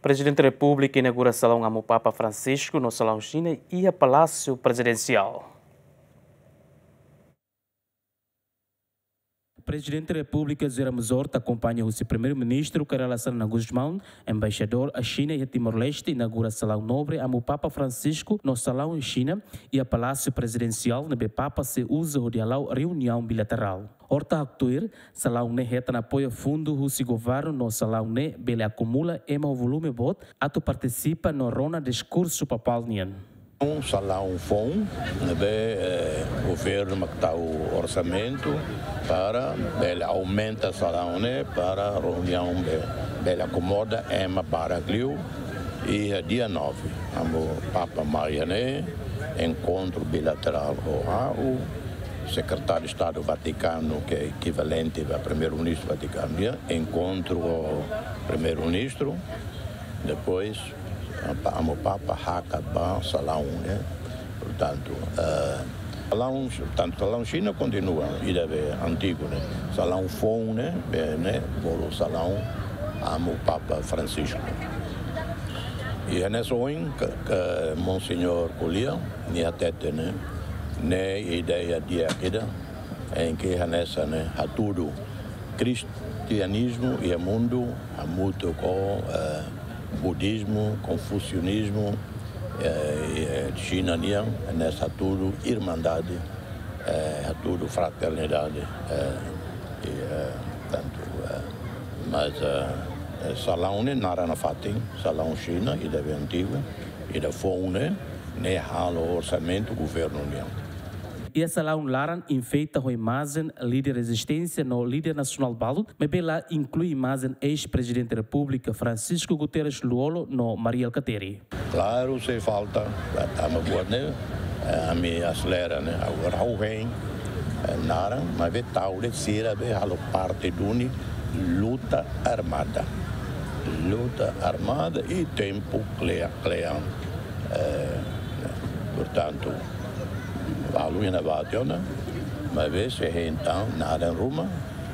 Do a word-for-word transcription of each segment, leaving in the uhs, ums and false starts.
Prezidente Repúblika inaugura salaun Amu Papa Francisco no salaun Xina iha Palásiu Prezidensiál. Prezidente Repúblika José Ramos Horta akompaña husi Primeiru-Ministru Kay Rala Xanana Gusmão, Embaixadór Xina iha Timor-Leste, inaugura salaun nobre Amu Papa Francisco no salaun Xina iha Palásiu Prezidensiál ne'ebé Papa sei uza hodi hala'o reuniaun bilaterál. Horta haktuir, salaun ne'e hetan apoiu fundu husi governu no salaun ne'e bele akumula ema ho volume boot atu partisipa no rona diskursu papál nian. Salaun foun ne'ebé, eh, governu mak tau orsamentu para bele aumenta salaun ne'e para reuniaun be-, bele akomoda ema barak liu. Iha dia nove, Amu Papa mai iha ne'e, enkontru bilaterál ho ha'u, Sekretáriu Estadu Vatikanu, ke ekivalente ba Primeiru-Ministru Vatikanu nian, enkontru ho Primeiru-Ministru, depois, apa, Amu Papa hakat ba salaun, eh. Portantu, eh, salaun, tantu salaun Xina kontinua, ida be antigu, ne'e. Salaun foun, ne'e, be, ne'e, bolu salaun Amu Papa Francisco. I hanesan ohin, ke, ke Monseñór ko'alia, nia hatete, ne'e, ne'e ideia di'ak ida, em que hanesan, ne'e, hatudu kristianizmu iha mundu, hamutuk ho, eh, budizmu, konfusionizmu, eh, i, eh, Xina nian, hanesan hatudu irmandade, eh, hatudu fraternidade, eh, i, eh, tantu, eh, mas, eh, eh, salaun ne'e naran nafatin, salaun Xina, ida be antigu, ida foun ne'e, ne'e halo orsamentu governu nian. Iha salaun laran enfeita ho imajen líder rezisténsia no líder nasionál balu, maibé la inklui imajen eis-Prezidente Repúblika Francisco Guterres Lú-Olo no Mari Alkatiri. Klaru, sei falta, la tama buat ne'e, eh, ami aselera ne'e, agora ha'u hein, eh, naran, maibé tau de'it sira be halo parte duni luta armada. Luta armada i tempu klea-, kle'an. Eh, portantu, balu iha ne'ebá tiha ona, maibé sei hein tan naran ruma,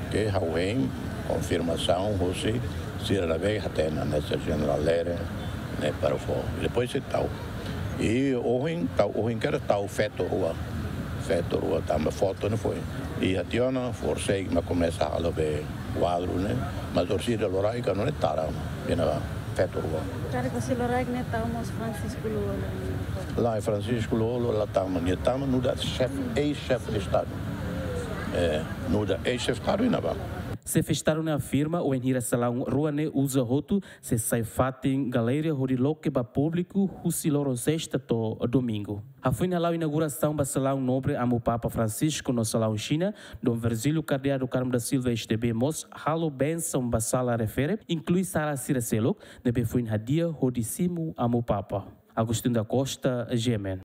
ke ha'u hein konfirmasaun husi sira ne'ebé hatene hanesan Jenerál Lere, ne'e para fó. I depois sei tau. I ohin, tau, ohin kedas tau feto rua. Feto rua tanba foto ne'e foin. I iha tiha ona, forsei mak komesa halo be kuadru ne'e. Mas orsida loraik anu ne'e tara, iha ne'ebá, feto rua. Karik orsida loraik ne'e tau mós Francisco Lú-Olo. Lae, Francisco Lú-Olo la tama, nia tama nu'udar xefe, eis-xefe de Estadu. Eh, nu'udar eis-xefe Estadu iha ne'ebá. Xefe Estadu ne'e afirma, wainhira salaun rua ne'e uza hotu, sei sai fatin galeria hodi loke ba públiku husi loron sesta to'o domingu. Hafoin hala'o inaugurasaun ba salaun nobre Amu Papa Francisco no salaun Xina, Dom Virgílio Cardeal do Carmo da Silva S D B mós halo bensaun ba sala refere, inklui sala sira seluk, ne'ebé foin hadi'a hodi simu Amu Papa. Agostinho da Costa, G M N.